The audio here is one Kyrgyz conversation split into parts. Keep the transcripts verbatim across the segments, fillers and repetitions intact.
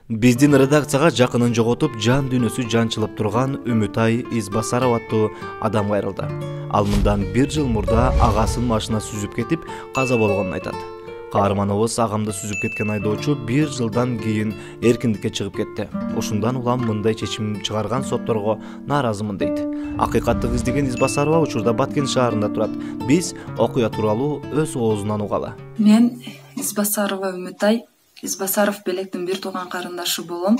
Биздин редакцияга жакынын жоготуп, жан дүйнөсү жанчылып турган Үмүтай Избасаров аттуу адам кайрылды. Ал мындан бир жыл мурда агасынын машина сүзүп кетип, каза болгонун айтат. Каарманыбыз агамды сүзүп кеткен айдоочу бир жылдан кийин эркиндикке чыгып кетти. Ушундан улам мындай чечим чыгарган сотторго нааразымын дейт. Акыйкатты издеген Избасарова учурда Баткен шаарында турат. Биз окуя тууралуу өз оозунан угалы. Мен Избасарова Үмүтай Избасаров Белектин бир тууган карындашы болом.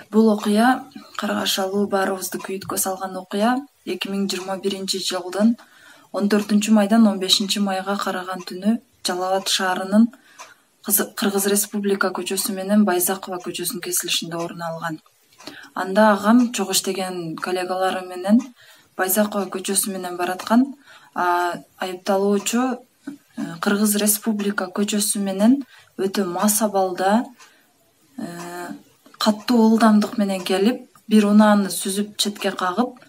Бул окуя Каргашалуу баарыбызды күйүткө салган окуя эки миң жыйырма биринчи жылдын он төртүнчү майдан он бешинчи майга караган түнү Жалал Абад шаарынын Кыргыз Республика көчөсү менен Байзакова көчөсүнүн кесилишинде орун алган. Анда агам чогуу иштеген коллегалары менен Байзакова көчөсү менен бараткан. Айыпталуучу Кыргыз Республика көчөсү менен өтө мас абалда каттуу ылдамдык менен келип, бир унааны сүзүп четке кагып,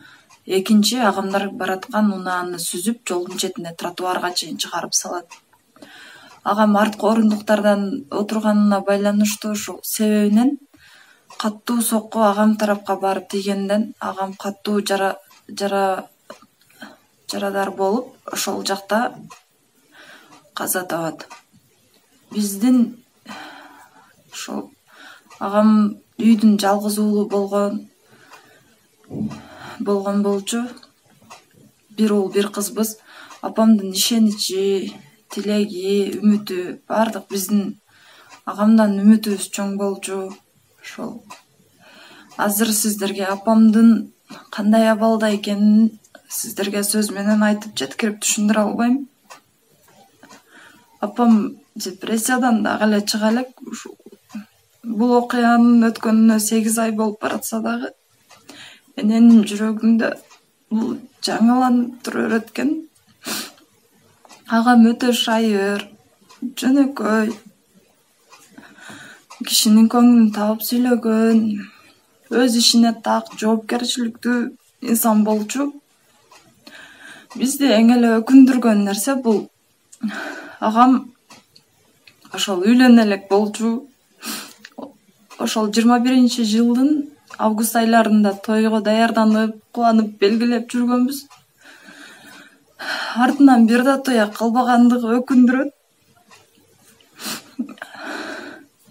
экинчи агамдар бараткан унааны сүзүп жолдун четине тротуарга чейин чыгарып салат. Агам арткы орундуктардан отурганына байланыштуу ушул себебинен каттуу сокку агам тарапка барып тийгенден агам каттуу жара жара жарадар болуп, ошол жакта каза табат. Биздин ошол агам үйдүн жалгыз уулу болгон болгон болчу. Бир уул, бир кызбыз. Апамдын ишеничи, тилеги, үмүтү бардык биздин агамдан үмүтүбүз чоң болчу. Ошол азыр сиздерге апамдын кандай абалда экенин сиздерге сөз менен айтып жеткирип түшүндүрө албайм. Апам депрессиядан дагы эле чыга элек. Бул окуянын өткөнүнө сегиз ай болуп баратса дагы менин жүрөгүмдө бул жаңыланып тура берет экен. Агам өтө шайыр, жөнөкөй, кишинин көңүлүн таап сүйлөгөн, өз ишине так, жоопкерчиликтүү инсан болчу. Бизди эң эле өкүндүргөн нерсе бул агам ошол үйлөнө элек болчу. Ошол жыйырма биринчи жылдын август айларында тойго даярданып, кубанып, белгилеп жүргөнбүз. Артынан бир да той кылбагандыгы өкүндүрөт.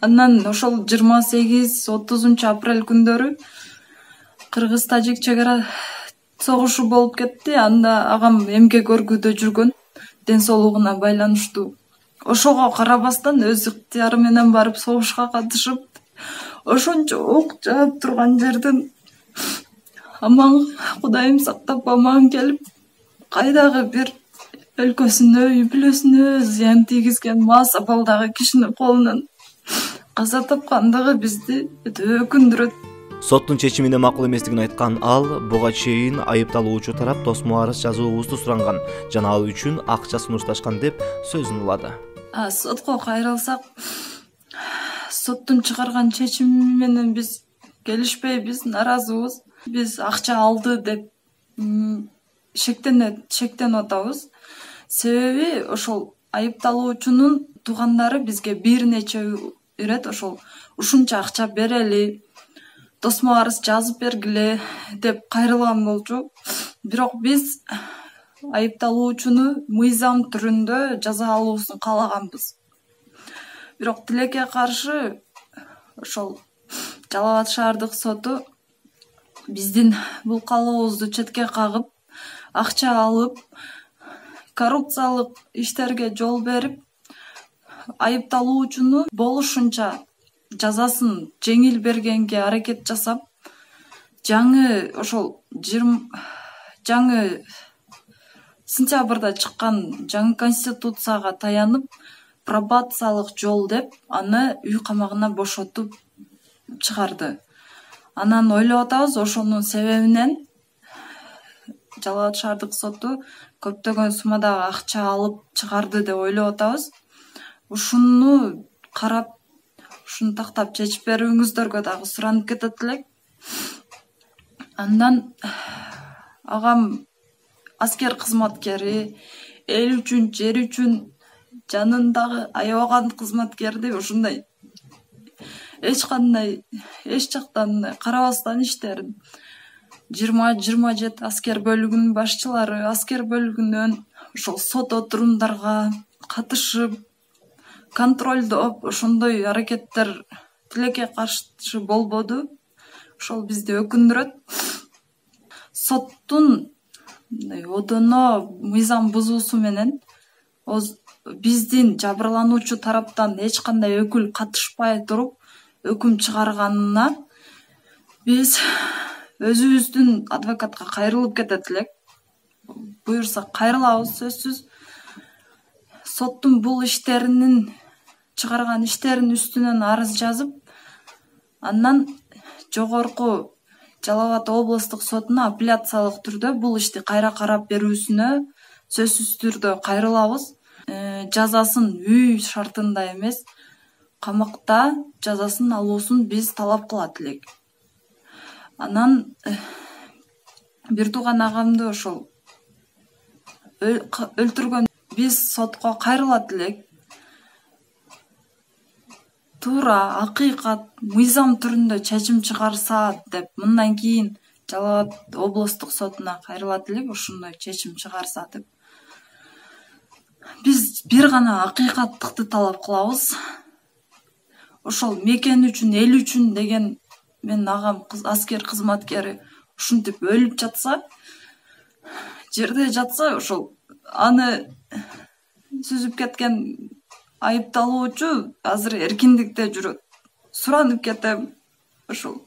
Андан ошол жыйырма сегиз отузунчу апрель күндөрү Кыргыз-Тажик чек ара согушу болуп кетти. Анда агам эмгек өргүүдө жүргөн, ден соолугуна байланыштуу. Ошого карабастан өз ыктыяры менен барып согушка катышып, ошончо ок жаап турган жерден аман, Кудайым сактап аман келип, кайдагы бир өлкөсүнө, үй бүлөсүнө зыян тийгизген мас абалдагы кишинин колунан каза тапкандыгы бизди өтө өкүндүрөт. Соттун чечимине макул эместигин айткан ал буга чейин айыпталуучу тарап тосмо арыз жазуубузду суранган жана ал үчүн акча сунушташкан деп сөзүн улады. Сотко кайрылсак, соттун чыгарган чечими менен биз келишпейбиз, нааразыбыз. Биз акча алды деп шектенет, шектенип атабыз. Себеби ошол айыпталуучунун туугандары бизге бир нече ирет ошол ушунча акча берели, тосмо арыз жазып бергиле деп кайрылган болчу. Бирок биз айыпталуучуну мыйзам түрүндө жаза алуусун каалаганбыз. Бирок тилекке каршы ошол Жалал Абад шаардык соту биздин бул каалообузду четке кагып, акча алып, коррупциялык иштерге жол берип, айыпталуучуну болушунча жазасын жеңил бергенге аракет жасап, жаңы ошол жаңы сентябрда чыккан жаңы конституцияга таянып, пробациялык жол деп аны үй камагына бошотуп чыгарды. Анан ойлоп атабыз, ошонун себебинен Жалал Абад шаардык соту көптөгөн суммадагы акча алып чыгарды деп ойлоп атабыз. Ушуну карап, ушуну тактап чечип берүүңүздөргө дагы суранып кетет элек. Андан агам аскер кызматкери, эл үчүн, жер үчүн жанын дагы аябаган кызматкерди ушундай эч кандай эч жактан карабастан иштерин жыйырма жыйырма жети аскер бөлүгүнүн башчылары аскер бөлүгүнөн ошол сот отурумдарга катышып контролдоп ошондой аракеттер тилекке каршы болбоду. Ошол бизди өкүндүрөт. Соттун мындай одоно мыйзам бузуусу менен биздин жабырлануучу тараптан эч кандай өкүл катышпай туруп өкүм чыгарганына биз өзүбүздүн адвокатка кайрылып кетет элек. Буюрса кайрылабыз сөзсүз. Соттун бул иштеринин чыгарган иштеринин үстүнөн арыз жазып, андан жогорку Жалал Абад облустук сотуна апелляциялык түрдө бул ишти кайра карап берүүсүнө сөзсүз түрдө кайрылабыз. Жазасын үй шартында эмес, камакта жазасын алуусун биз талап кылат элек. Анан бир тууган агамды ошол өлтүргөн биз сотко кайрылат элек. Туура, акыйкат, мыйзам түрүндө чечим чыгарса деп мындан кийин Жалал Абад облустук сотуна кайрылат элек, ошондой чечим чыгарса деп. Биз бир гана акыйкаттыкты талап кылабыз. Ошол мекен үчүн, эл үчүн деген менин агам аскер кызматкери ушинтип өлүп жатса, жерде жатса, ошол аны сүзүп кеткен айыпталуучу азыр эркиндикте жүрөт. Суранып кетем, ошол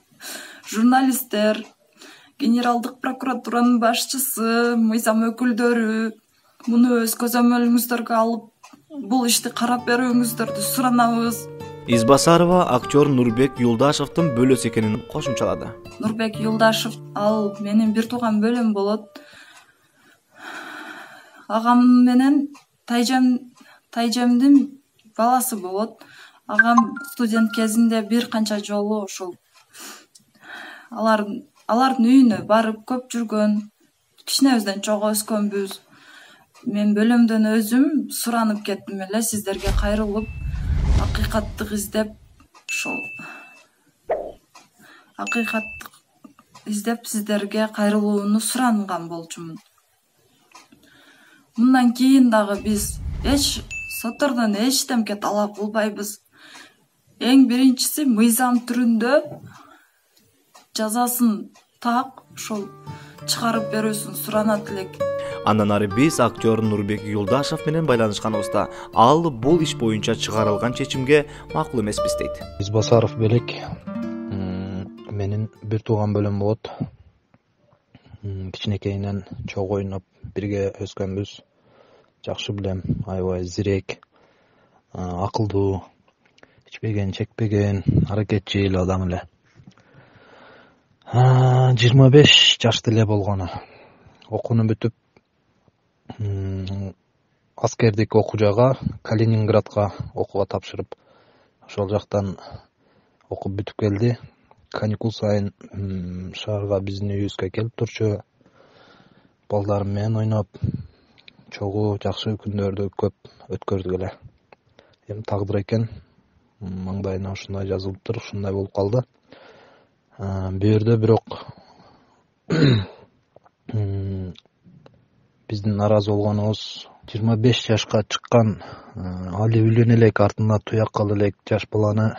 журналисттер, генералдык прокуратуранын башчысы, мыйзам өкүлдөрү муну өз көзөмөлүңүздөргө алып, бул ишти карап берүүңүздөрдү суранабыз. Избасарова актер Нурбек Юлдашевдин бөлөсү экенин кошумчалады. Нурбек Юлдашев ал менин бир тууган бөлөм болот. Агам менен тайжам тайжамдын баласы болот. Агам студент кезинде бир канча жолу ошол алар алардын үйүнө барып көп жүргөн. Кичинебизден чогуу өскөнбүз. Мен бөлөмдөн өзүм суранып кеттим эле, сиздерге кайрылып, акыйкаттык издеп, ошол акыйкаттык издеп сиздерге кайрылууну суранган болчумун. Мындан кийин дагы биз эч соттордон эчтемке талап кылбайбыз. Эң биринчиси мыйзам түрүндө жазасын так ошол чыгарып берүүсүн суранат элек. Андан ары биз актер Нурбек Юлдашев менен байланышканыбызда ал бул иш боюнча чыгарылган чечимге макул эмеспиз дейт. Избасаров белек менин бир тууган бөлөм болот. Кичинекейинен чогуу ойноп бирге өскөнбүз. Жакшы билем, аябай зирек, акылдуу, ичпеген, чекпеген, аракетчил адам эле. жыйырма беш жашта эле болгону. Окууну бүтүп, аскердик окуужага Калининградга окууга тапшырып, ошол жактан окуп бүтүп келди. Каникул сайын шаарга биздин үйүбүзгө келип турчу. Балдарым менен ойноп, чогуу жакшы күндөрдү көп өткөрдүк эле. Эми тагдыр экен, маңдайына ушундай жазылыптыр, ушундай болуп калды. Бу жерде бирок биздин наразы болгонубуз жыйырма беш жашка чыккан, али үйлөнө элек, артында туяк кала элек жаш баланы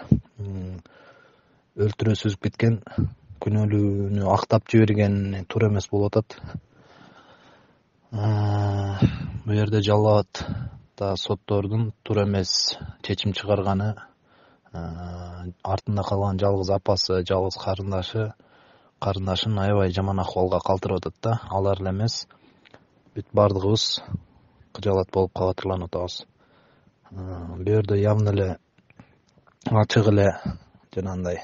өлтүрө сүзүп кеткен, күнөөлүүнү актап жиберген туура эмес болуп атат. Бу жерде Жалал Абад да соттордун туура эмес чечим чыгарганы, артында калган жалгыз апасы, жалгыз карындашы, карындашын аябай жаман акыбалга калтырып атат да. Алар эле эмес, бүт бардыгыбыз кыжаалат болуп кабатырланып атабыз. Бу жерде явно эле ачык эле жанагындай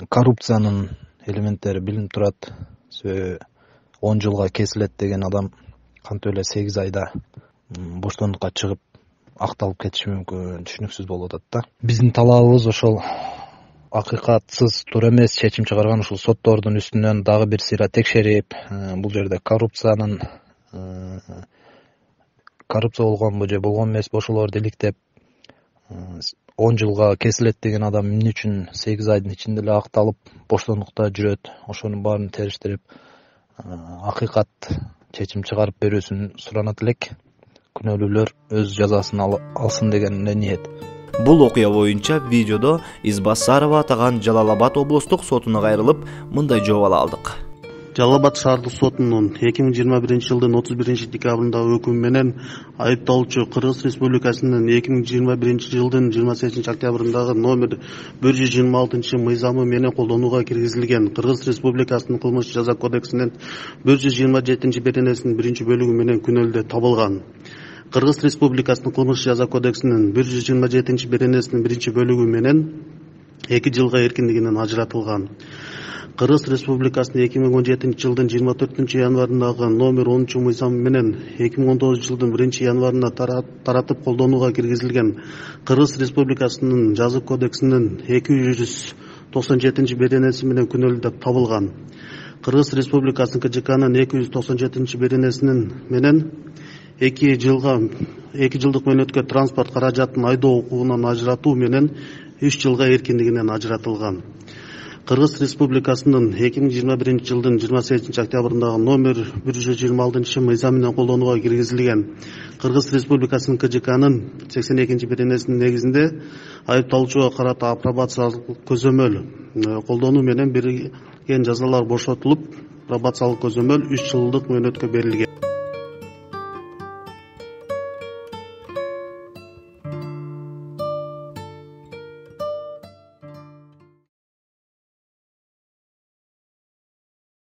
коррупциянын элементтери билинип турат. он жылга кесилет деген адам кантип эле сегиз айда боштондукка чыгып акталып кетиши мүмкүн, түшүнүксүз болуп атат да. Биздин талабыбыз ошол акыйкатсыз, туура эмес чечим чыгарган ушул соттордун үстүнөн дагы бир сыйра текшерип, бул жерде коррупциянын коррупция болгонбу же болгон эмес, ошолорду иликтеп, он жылга кесилет деген адам эмне үчүн сегиз айдын ичинде эле акталып боштондукта жүрөт? Ошонун баарын териштирип акыйкат чечим чыгарып берүүсүн суранат элек. Күнөөлүүлөр өз жазасын алсын деген эле ниет. Бул окуя боюнча видеодо Избасарова атаган Жалал Абад облустук сотуна кайрылып, мындай жооп ала алдык. Жалал Абад шаардык сотунун эки миң жыйырма биринчи жылдын отуз биринчи декабрындагы өкүмү менен айыпталуучу Кыргыз Республикасынын эки миң жыйырма биринчи жылдын жыйырма сегизинчи октябрындагы номер бир жүз жыйырма алтынчы мыйзамы менен колдонууга киргизилген Кыргыз Республикасынын кылмыш жаза кодексинин бир жүз жыйырма жетинчи беренесинин биринчи бөлүгү менен күнөөлдө табылган. Кыргыз Республикасынын кылмыш жаза кодексинин бир жүз жыйырма жетинчи беренесинин биринчи бөлүгү менен эки жылга эркиндигинен ажыратылган. Кыргыз Республикасынын эки миң он жетинчи жылдын жыйырма төртүнчү январындагы номер онунчу мыйзамы менен эки миң он тогузунчу жылдын биринчи январында таратып колдонууга киргизилген Кыргыз Республикасынын жаза кодексинин эки жүз токсон жетинчи беренеси менен күнөөлүү табылган. Кыргыз Республикасынын К Ж Кнын эки жүз токсон жетинчи беренесинин менен эки жылга эки жылдык мөөнөткө транспорт каражатын айдоо укугунан ажыратуу менен үч жылга эркиндигинен ажыратылган. Кыргыз Республикасынын эки миң жыйырма биринчи жылдын жыйырма сегизинчи октябрындагы номер бир жүз жыйырма алтынчы мыйзам менен колдонууга киргизилген Кыргыз Республикасынын К Ж Кнын сексен экинчи беренесинин негизинде айыпталуучуга карата апробациялык көзөмөл колдонуу менен берилген жазалар бошотулуп, пробациялык көзөмөл үч жылдык мөөнөткө берилген.